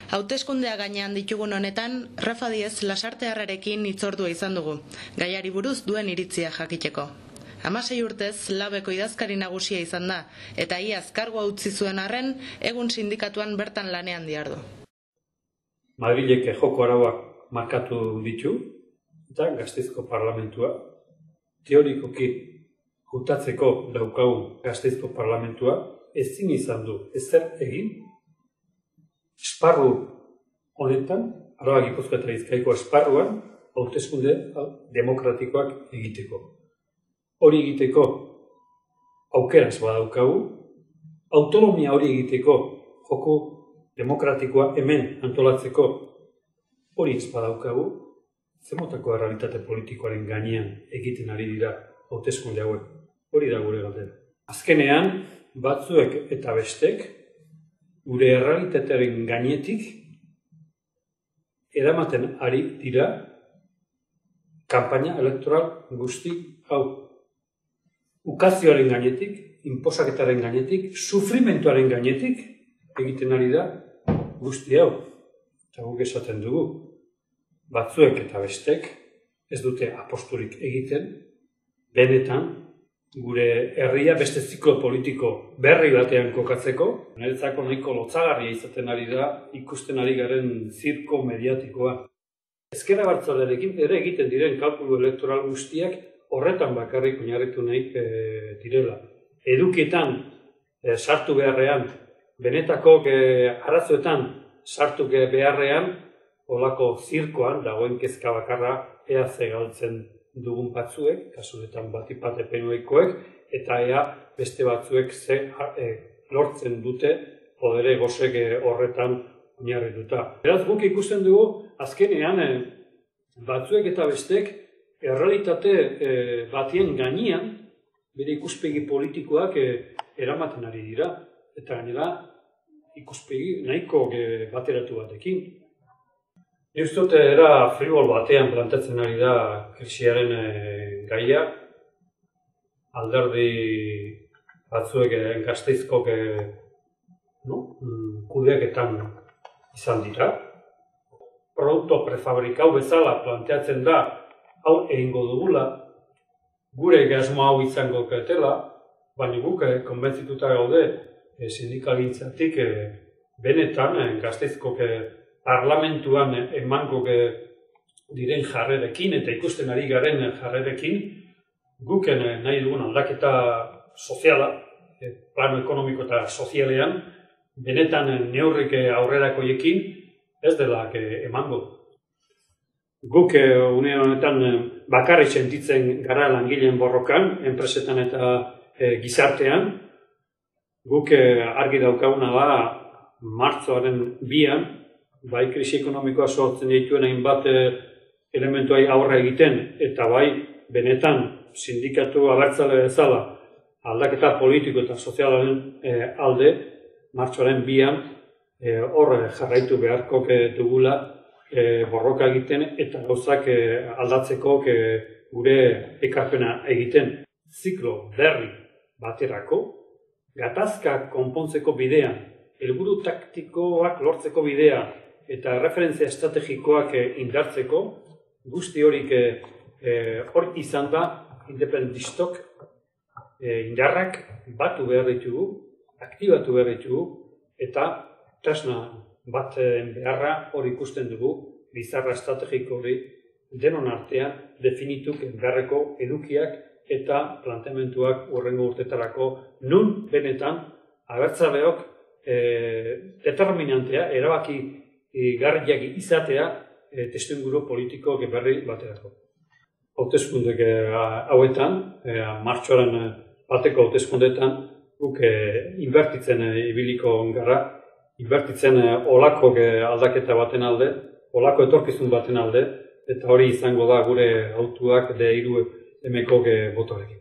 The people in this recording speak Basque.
Hauteskundea gainean ditugun honetan, Rafa Diez Lasartearrarekin hitzordua izan dugu, gaiari buruz duen iritzia jakiteko. 16 urtez Labeko idazkari nagusia izan da, eta iaz kargua utzi zuen arren, egun sindikatuan bertan lanean dihardu. Madrilek joko arauak markatu ditu, eta Gasteizko parlamentua, teorikoki hautatzeko daukagun Gasteizko parlamentua, ezin izan du ezer egin, esparru honetan, Araba Gipuzkoa eta Bizkaiko esparruan, hauteskunde demokratikoak egiteko. Hori egiteko aukeraz badaukagu, autonomia hori egiteko joko demokratikoa hemen antolatzeko hori ez badaukagu, zemotako errealitate politikoaren gainean egiten ari dira hauteskunde hauek. Hori da gure galdera. Azkenean, batzuek eta bestek, gure errealitatearen gainetik eramaten ari dira kanpaina elektoral guzti hau. Ukazioaren gainetik, inposaketaren gainetik, sufrimentuaren gainetik egiten ari da guzti hau. Eta guk esaten dugu, batzuek eta bestek ez dute aposturik egiten, benetan gure herria beste ziklo politiko berri batean kokatzeko. Niretzako nahiko lotzagarria izaten ari da ikusten ari garen zirko mediatikoa. Ezker Abertzalearekin ere egiten diren kalkulu elektoral guztiak horretan bakarrik oinarritu nahi direla. Edukietan sartu beharrean, benetako arazoetan sartu beharrean, olako zirkoan dagoen kezka bakarra ea ze galtzen dugun batzuek, kasu honetan batipat epenoikoek, eta ea beste batzuek ze lortzen dute podere gozek horretan oinarrituta. Beraz, guk ikusten dugu, azkenean batzuek eta bestek errealitate batien gainean bere ikuspegi politikoak eramaten ari dira. Eta gainera, ikuspegi nahiko bateratu batekin. Nik uste dut era fribol batean plantatzen ari da krisiaren gaia. Alderdi batzuek Gasteizkok kudeaketan izan dira. Produkto prefabrikau bezala planteatzen da hau egingo dugula, gure asmo hau izango ketela, baina guk konbentzituta gaude sindikalgintzatik benetan Gasteizko parlamentuan emango diren jarrerekin eta ikusten ari garen jarrerekin guk nahi dugun aldaketa soziala, plano ekonomiko eta sozialean, benetan neurrik aurrerakoiekin ez dela emango. Guk une honetan bakarrik sentitzen gara langileen borrokan, enpresetan eta gizartean. Guk argi daukaguna da martxoaren 2an, bai krisi ekonomikoa sortzen dituen hainbat elementuai aurre egiten, eta bai benetan sindikatu abertzale bezala aldaketa politiko eta sozialaren alde, martxoaren 2an horre jarraitu beharko dugula borroka egiten eta gauzak aldatzeko gure ekarpena egiten. Ziklo berri baterako, gatazka konpontzeko bidean, helburu taktikoak lortzeko bidea eta referentzia estrategikoak indartzeko, guzti horik hor izan da independentistok indarrak batu behar ditugu, aktibatu behar ditugu, eta tresna bat beharra hori ikusten dugu, bizarra estrategiko hori denon artean definituk beharreko edukiak eta planteamentuak hurrengo urtetarako nun benetan abertzaleok determinantea, erabaki garriak izatea testuinguru politiko berri baterako. Hauteskundek hauetan, martxoaren bateko hauteskundetan, guk inbertitzen ibiliko gara, inbertitzen olako aldaketa baten alde, olako etorkizun baten alde, eta hori izango da gure hautuak D3 emeko botorekin.